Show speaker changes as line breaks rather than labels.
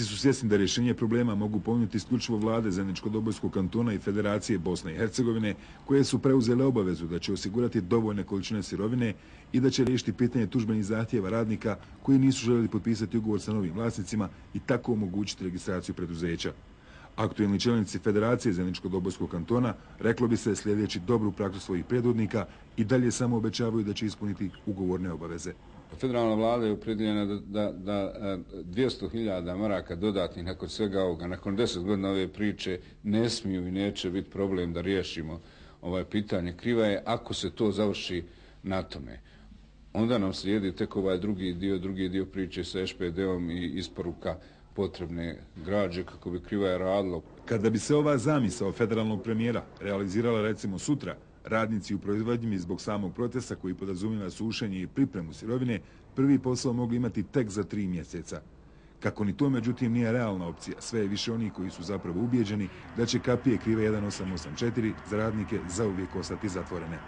Su svjesni da rješenje problema mogu ponuditi isključivo vlade Zeničko-Dobojskog kantona i Federacije Bosne i Hercegovine, koje su preuzele obavezu da će osigurati dovoljne količine sirovine i da će riješiti pitanje tužbenih zahtjeva radnika koji nisu željeli potpisati ugovor sa novim vlasnicima i tako omogućiti registraciju preduzeća. Aktuelni čelnici Federacije Zeničko-Dobojskog kantona, reklo bi se, sljedeći dobru praksu svojih predvodnika, i dalje samo obećavaju da će ispuniti ugovorne obaveze.
Federalna vlada je opredjeljena da 200.000 maraka dodatnih nakon svega ovoga, nakon 10 godina ove priče, ne smiju i neće biti problem da riješimo ovaj pitanje. Kriva je ako se to završi na tome. Onda nam slijedi tek ovaj drugi dio priče sa ŠPD-om i isporuka potrebne građe kako bi Krivaja radilo.
Kada bi se ova zamisao federalnog premijera realizirala recimo sutra, radnici u proizvodnji zbog samog protesta koji podrazumijeva sušenje i pripremu sirovine prvi posao mogli imati tek za 3 mjeseca. Kako ni to međutim nije realna opcija, sve je više onih koji su zapravo ubijeđeni da će kapije Krive 1884 za radnike zauvijek ostati zatvorene.